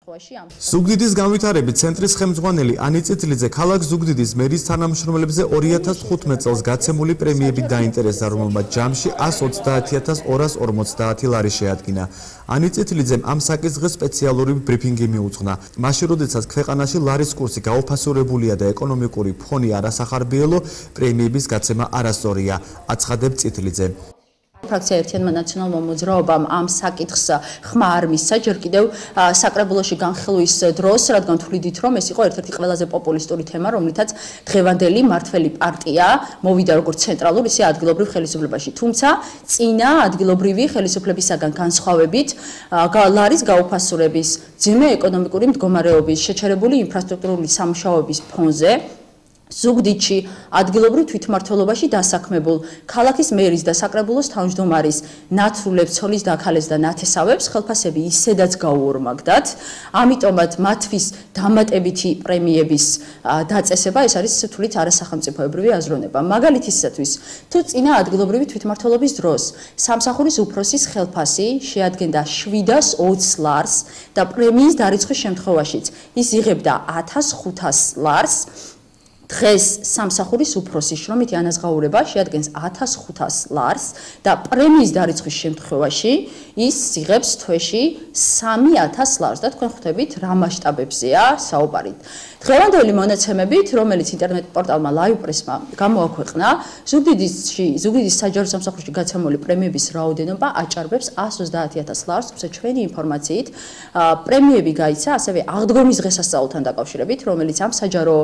ზუგდიდის განვითარების ცენტრის ხელმძღვანელი ანი წითლიძე ქალაქ ზუგდიდის მერის თანამშრომლებზე 2015 წელს გაცემული პრემიებით დაინტერესდა, რომელმაც ჯამში 130,250 ლარი შეადგინა. ანი წითლიძემ ამ საკითხზე სპეციალური ბრიფინგი მიუძღვნა. მაშინ, როდესაც ქვეყანაში ლარის კურსი გაუფასურებულია და ეკონომიკური ფონი არასახარბიელო, პრემიების გაცემა არასწორია, აცხადებს წითლიძე. ფრაქცია ერთიანმა ნაციონალურმა მოძრაობამ ამ საკითხს ხმა არ მისცა ჯერ კიდევ საკრებულოში განხილვის დროს, რადგან თვლიდით, რომ ეს იყო ერთ-ერთი ყველაზე პოპულისტური თემა, რომლითაც დღევანდელი მართველი პარტია მოვიდა როგორც ცენტრალურ, ისე ადგილობრივ ხელისუფლებაში. თუმცა წინა ადგილობრივი ხელისუფლებისაგან განსხვავებით, ლარის გაუფასურების, ძიმე ეკონომიკური მდგომარეობის, შეჩერებული ინფრასტრუქტურული სამუშაოების ფონზე ზუგდიდში ადგილობრივ თვითმმართველობაში დასაქმებულ ქალაქის მერის და საკრებულოს თავმჯდომარის ნაცვლებს, ცოლის დაქალეს და ნათესავებს ხელფასები ისედაც გაუორმაგდათ. ამიტომაც მათთვის დამატებითი პრემიების დაწესება ეს არის თვლით არასახელმწიფოებრივი აზროვნება. მაგალითისათვის, თუ წინა ადგილობრივი თვითმმართველობის დროს სამსახურის უფროსის ხელფასი შეადგენდა 720 ლარს და პრემიის დარიცხვის შემთხვევაშიც ის იღებდა 1500 ლარს, დღეს სამსახურის უფროსის შრომითი ანაზღაურება შეადგენს 1500 ლარს და პრემიის დარიცხვის შემთხვევაში ის იღებს თვეში 3000 ლარს და თქვენ ხვდებით რა მასშტაბებზეა საუბარი. დღევანდელი მონაცემებით, რომელიც ინტერნეტ პორტალმა LivePress-მა გამოაქვეყნა, ზუგდიდის საჯარო სამსახურში გაცემული პრემიების რაოდენობა აჭარბებს 130,000 ლარს, თუმცა ჩვენი ინფორმაციით პრემიები გაიცა ასევე აღდგომის დღესასწაულთან დაკავშირებით, რომელიც ამ საჯარო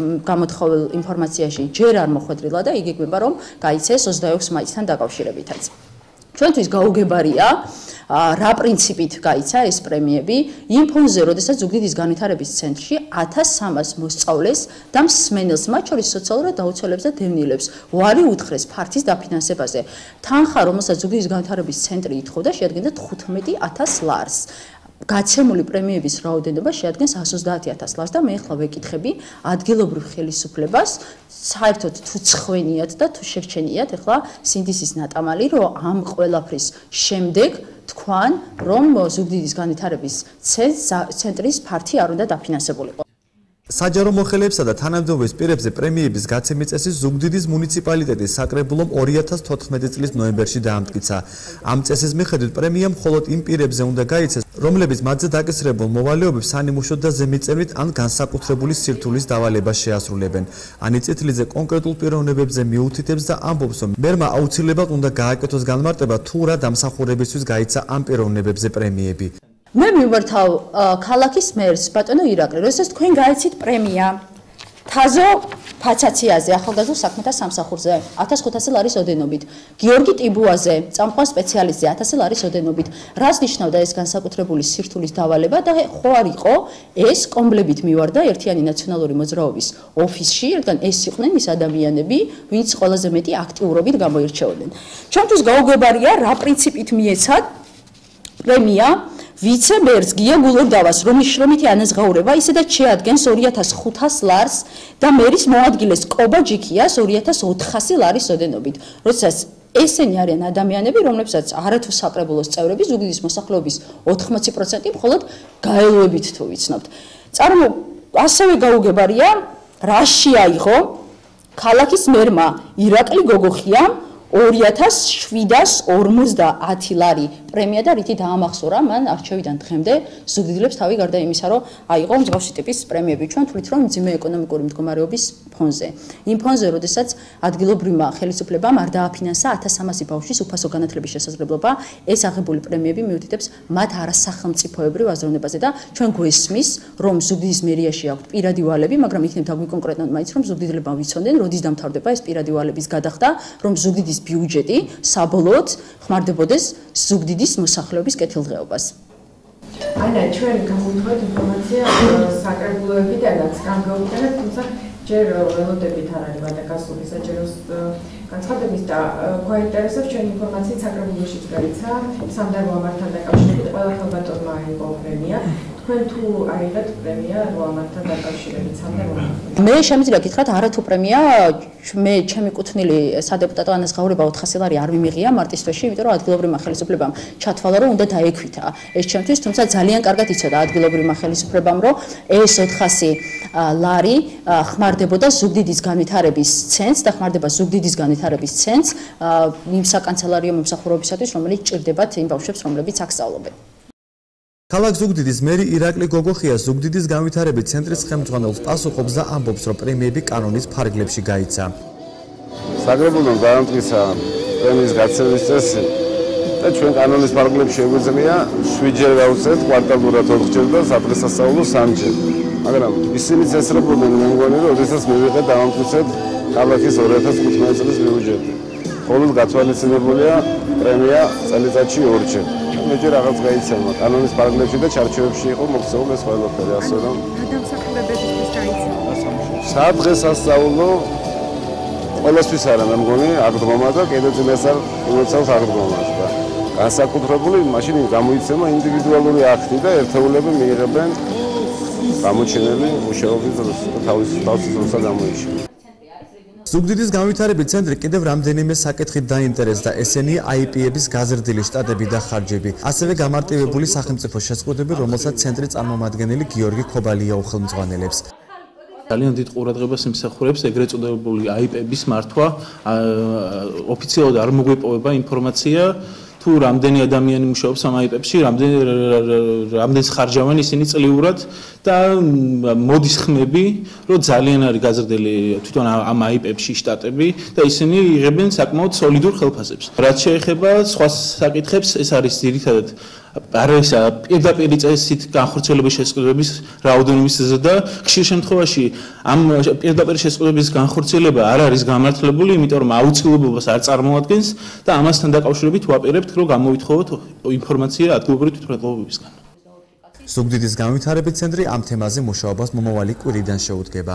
გამოთხოვილ ინფორმაციაში ჯერ არ მოხვედრილა და იგეგმება, რომ გაიცეს 26 მაისთან დაკავშირებითაც. ჩვენთვის გაუგებარია რა პრინციპით გაიცა ეს პრემიები იმ ფონზე, როდესაც ზუგდიდის განვითარების ცენტრში 1300 მოსწავლეს და მსმენელს, მათ შორის სოციალურად დაუცველებს და დევნილებს, უარი უთხრეს ფართის დაფინანსებაზე. თანხა, რომელსაც ზუგდიდის განვითარების ცენტრი ითხოვდა, შეადგენდა 15,000 ლარს. გაცემული პრემიების რაოდენობა შეადგენს 130,000 ლარს და მე ახლა ვეკითხები ადგილობრივ ხელისუფლებას, საერთოდ თუ ცხვენიათ და თუ შეგჩენიათ ახლა სინდისის ნატამალი, რომ ამ ყველაფრის შემდეგ თქვან, რომ ზუგდიდის განვითარების ცენტრის ფართი არ უნდა დაფინანსებულიყო. საჯარო მოხელეებსა და თანამდებობის პირებზე პრემიების გაცემის წესი ზუგდიდის მუნიციპალიტეტის საკრებულომ 2014 წლის ნოემბერში დაამტკიცა. ამ წესის მიხედვით პრემია მხოლოდ იმ პირებზე უნდა გაიცეს, რომლებიც მათზე დაკისრებულ მოვალეობებს სანიმუშოდ და ზემიწევნით ან განსაკუთრებული სირთულის დავალებას შეასრულებენ. ანი წითლიძე კონკრეტულ პიროვნებებზე მიუთითებს და ამბობს, რომ მერმა აუცილებლად უნდა გააკეთოს განმარტება თუ რა დამსახურებისთვის გაიცა ამ პიროვნებებზე პრემიები. მე მივმართავ ქალაქის მერს ბატონო ირაკლი, როდესაც თქვენ გაიცით პრემია თაზო ფაცაციაზე, ახალგაზრდა საქმეთა სამსახურზე 1500 ლარის ოდენობით, გიორგი ტიბუაზე, წამყვან სპეციალისტზე 1000 ლარის ოდენობით. რას ნიშნავდა ეს განსაკუთრებული სირთულის დავალება და ხო არ იყო ეს კომბლებით მივარდა ერთიანი ნაციონალური მოძრაობის ოფისში, რადგან ეს იყვნენ ის ადამიანები, ვინც ყველაზე მეტი აქტიურობით გამოირჩეოდნენ. ჩვენთვის გაუგებარია რა პრინციპით მიეცათ პრემია ვიცე-მერს გია გულორდავას, რომლის შრომითი ანაზღაურება ისედაც შეადგენს 2500 ლარს და მერის მოადგილეს კობა ჯიქიას 2400 ლარის ოდენობით. როდესაც ესენი არიან ადამიანები, რომლებსაც არათუ საკრებულოს წევრები ზუგდიდის მოსახლეობის 80% მხოლოდ გაელვებით თუ ვიცნობთ. ასევე გაუგებარია, რა შეაიღო ქალაქის მერმა ირაკლი გოგოხიამ 2750 ლარი პრემია და რითი დაამახსოვრა მან არჩევიდან დღემდე ზუგდიდელებს თავი გარდა იმისა, რომ აიღო მსგავსი ტიპის პრემიები. ჩვენ თვლით, რომ ძიმე ეკონომიკური მდგომარეობის ფონზე. იმ ფონზე, როდესაც ადგილობრივმა ხელისუფლებამ არ დააფინანსა 1300 ბავშვის უფასო განათლების შესაძლებლობა, ეს აღებული პრემიები მიუთითებს მათ არასახელმწიფოებრივ აზროვნებაზე და ჩვენ გვესმის, რომ ზუგდიდის მერიაში აქვთ პირადი ვალები, მაგრამ იქნებ დაგვიკონკრეტნოთ მაინც, რომ ზუგდიდებმა ვიცოდნენ, როდის დამთავრდება ეს პირადი ვალების გადახდა, რომ ზუგდიდის ბიუჯეტი საბოლოოდ ხმარდებოდეს ზუგდიდის მოსახლეობის კეთილდღეობას. ანა, ჩვენ გამოვთხოვეთ ინფორმაცია საკრებულოებიდანაც გამოვიტანეთ, თუმცა ჯერ ველოდებით არ არის ვადაკასული საჯარო განცხადების და გვაინტერესებს ჩვენი ინფორმაციით საკრებულოშიც გაიცა სამდარო ამართან დაკავშირებით ყველა ხელბატონმა აიღო პრემია. თქვენ თუ აიღეთ პრემია ამართან დაკავშირებით სამდარო ამართან? მე შემიძლია გითხრათ არათუ პრემია მე ჩემი კუთვნილი სადეპუტატო ანაზღაურება 400 ლარი არ მიმიღია მარტის თვეში, იმიტომ რომ ადგილობრივმა ხელისუფლებამ ჩათვალა რომ უნდა დაექვითა ეს ჩემთვის, თუმცა ძალიან კარგად იცოდა ადგილობრივმა ხელისუფლებამ რომ ეს 400 ლარი ხმარდებოდა ზუგდიდის განვითარების ცენტრს და ხმარდება ზუგდიდის განვითარების ცენტრს იმ საკანცელერიო მომსახურებისათვის, რომელიც ჭირდებათ იმ ბავშვებს, რომლებიც აქ სწავლობენ. ქალაქ ზუგდიდის მერი ირაკლი გოგოხია ზუგდიდის განვითარების ცენტრის ხელმძღვანელს პასუხობს და ამბობს, რომ პრემიები კანონის ფარგლებში გაიცა. საკრებულომ დაამტკიცა პრემიის გაცემის წესი და ჩვენ კანონის ფარგლებში შეგვიძლია 7 ჯერ გავუწევთ კვარტალურად 4 ჯერ და სადღესასწაულო 3 ჯერ. მაგრამ ისინი წესრებოდნენ მე მგონი, რომ შესაძლოა მივიღეთ დავამტკიცეთ ქალაქის 2015 წლის ბიუჯეტი. მხოლოდ გათვალისწინებულია პრემია წელიწადში 2 ჯერ. მეჯერ რაღაც გაიცემა კანონის პარაგრაფში და ჩარჩოებში იყო მოქცეული ეს ყველაფერი, ასე რომ გადამსახურებებისთვის გაიცემა. სადღესასწაულო ყველასთვის არა, მე მგონი აღდგომა და კიდევ წინასწარ იმოცავს აღდგომას და განსაკუთრებული მაშინ გამოიცემა ინდივიდუალური აქტი და ერთეულები მიიღებენ გამოჩენილი მუშაობის დროს და თავის დროსაც გამოიჩინა. ზუგდიდის განვითარების ცენტრი კიდევ რამდენიმე საკითხით დაინტერესდა, ესენია IP-ების გაზრდილი შტატები და ხარჯები, ასევე გამარტივებული სახელმწიფო შეზღუდვები, რომელსაც ცენტრის წარმომადგენელი გიორგი ქობალია უხელმძღვანელებს. ძალიან დიდ ყურადღებას იმსახურებს ეგრეთ წოდებული IP-ების მართვა, ოფიციალურად არ მოგვეპოვება ინფორმაცია თუ რამდენი ადამიანი მუშაობს ამ IP-ებში, რამდენს ხარჯავენ ისინი წლიურად და მოდის ხმები, რომ ძალიან არის გაზრდილი თვითონ ამ IP-ებში შტატები და ისინი იღებენ საკმაოდ სოლიდურ ხელფასებს. რაც შეეხება სხვა საკითხებს, ეს არის ძირითადად არის პირდაპირ წესით განხორციელების შესყიდვების რაოდენობისაზე და ხშირ შემთხვევაში ამ პირდაპირ შესყიდვების განხორციელება არ არის გამართლებული, იმიტომ რომ აუცილებლობას არ წარმოადგენს და ამასთან დაკავშირებით ვაპირებთ, რომ გამოვითხოვოთ ინფორმაცია ადგილობრივი თვითმმართველობებისგან. ზუგდიდის განვითარების ცენტრი ამ თემაზე მუშაობას მომავალი კვირიდან შეუდგება.